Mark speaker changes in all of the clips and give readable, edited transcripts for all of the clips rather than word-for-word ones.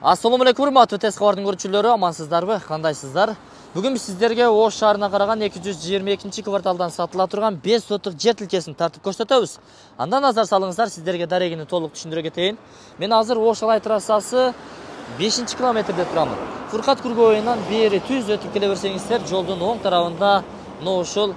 Speaker 1: Assalamu alaikum, урматтуу тез кабардын көрүүчүлөрү, амансыздарбы, кандайсыздар? Бүгүн биз сиздерге Ош шаарына караган 222-кварталдан сатыла турган 5 соттук жер тилкесин тартып көрсөтөбүз. Андан назар салыңыздар, сиздерге дарегини толук түшүндүрө кетейин. Мен азыр Ош Алай трассасы 5-километрде турамын. Фуркат Кургоюнан бери түз өтүп келе берсеңиздер, жолдун оң тарабында ушул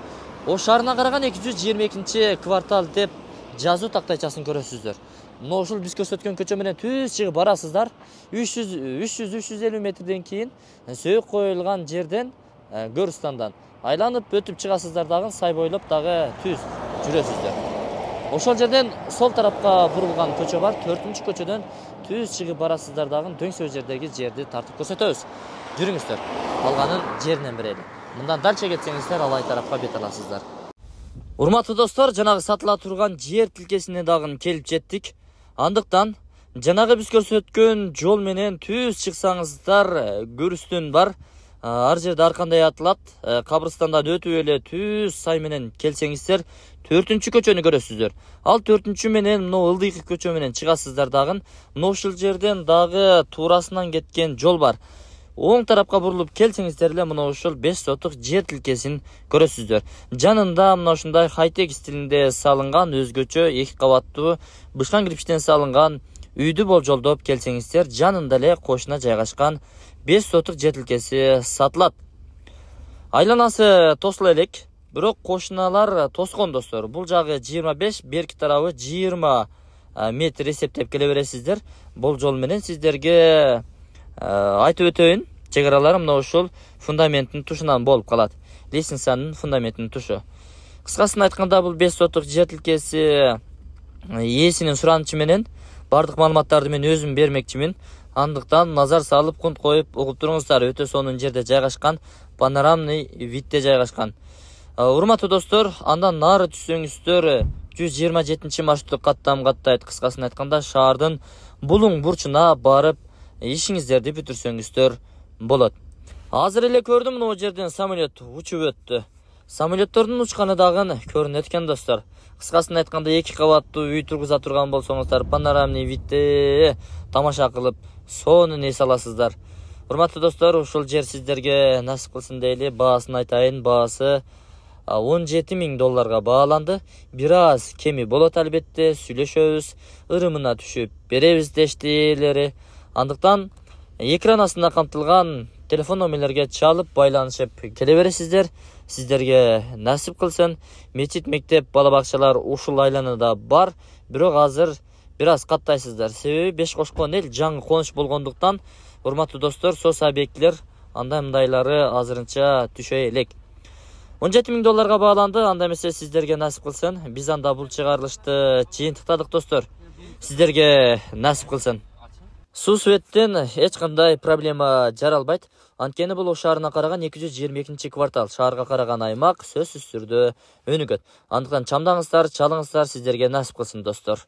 Speaker 1: Ош шаарына караган 222-квартал деп жазуу тактайчасын көрөсүздөр. Ушул биз көрсөткөн көчө менен түз чыгып барасыздар. 300-350 метрден кийин сөйүк коюлган жерден Көрстандан айланып өтүп чыгасыздар дагы, сай бойлоп дагы түз жүрөсүздөр. Ошол жерден сол тарапка бурулган көчө бар. 4-көчөдөн түз чыгып барасыздар дагы, дөңсөө жердеги жерди тартып көрсөтөбүз. Жүрүңүздөр. Калганын жеринен берели. Мындан дальше кетсеңиздер Алай тарапка бет аласыздар. Урматтуу достор, жанагы сатыла турган жер тилкесине дагы келип жеттик. Андыктан жанагы биз көрсөткөн жол менен түз чыксаңыздар көрүстүн бар. Ар жерде ар кандай атылат. Кабырстандан өтүп эле түз сай менен келсеңиздер 4-көчөнү көрөсүздөр. Ал 4 менен мына ылдыйкы көчө менен чыгасыздар дагы. Мына ушул жерден дагы туурасынан кеткен жол бар. Оң тарапка бурулуп келсеңиздер эле мына ушул 5 соттук жер тилкесин көрөсүздөр. Жанында мына ушундай хай-тек стилинде салынган өзгөчө 2 кабаттуу бышкан кирпичтен салынган үйдү болжолдоп келсеңиздер, жанында эле кошуна жайгашкан 5 соттук жер тилкеси сатылат. Айланасы тосула элек, бирок кошуналар тоскон достор. Бул жагы 25, берки тарабы 20 метр эсептеп келе бересиздер. Болжол менен сиздерге айтып өтөйүн, чек аралары мына ушул фундаменттин тушунан болуп калат. Лестницанын фундаментинин тушу. Кыскасын айтканда, бул 5 соттук жер тилкеси ээсинин суранычы менен бардык маалыматтарды мен өзүм бермекчимин. Андыктан назар салып, кунт коюп угуп туруңуздар. Өтө сонун жерде жайгашкан, панорамный видде жайгашкан. Урматтуу достор, андан нары түшсөңүздөр 127 маршрутту каттам каттайт. Кыскасын айтканда, шаардын булуң бурчуна барып ишиңиздерди бүтүрсөңүздөр болот. Азыр эле көрдүм, мына жерден самолет учуп өттү. Самолеттордун учканы дагы көрүнөт экен достор. Кыскасын айтканда, 2 кабаттуу үй тургуза турган болсоңуздар, панорамный видде тамаша кылып сонун эс аласыздар. Урматтуу достор, ушул жер сиздерге насип кылсын дейли. Баасын айтайын, баасы $17,000 бааланды. Бир аз кеми болот албетте, сүйлөшөбүз, ырымына түшүп беребиз дештилери. Андыктан экран астында камтылган телефон номерлерге чалып байланышып келе бересиздер. Сиздерге насип кылсын. Мечит, мектеп, бала бакчалар ушул айланада бар. Бирок азыр бир аз каттайсыздар. Себеби Беш кошкон эл жаңы конуш болгондуктан, урматтуу достор, сос объектилер андай мындайлары азырынча түшө элек. $17,000 бааланды. Анда эмесе сиздерге насип кылсын. Биз анда бул чыгарылышты жыйынтыктадык достор. Сиздерге насип кылсын. Суу светтен эч кандай проблема жаралбайт. Анткени бул Ош шаарына караган 222-квартал, шаарга караган аймак сөзсүз түрдө өнүгөт. Андыктан чамдаңыздар, чалыңыздар, сиздерге насип кылсын достор.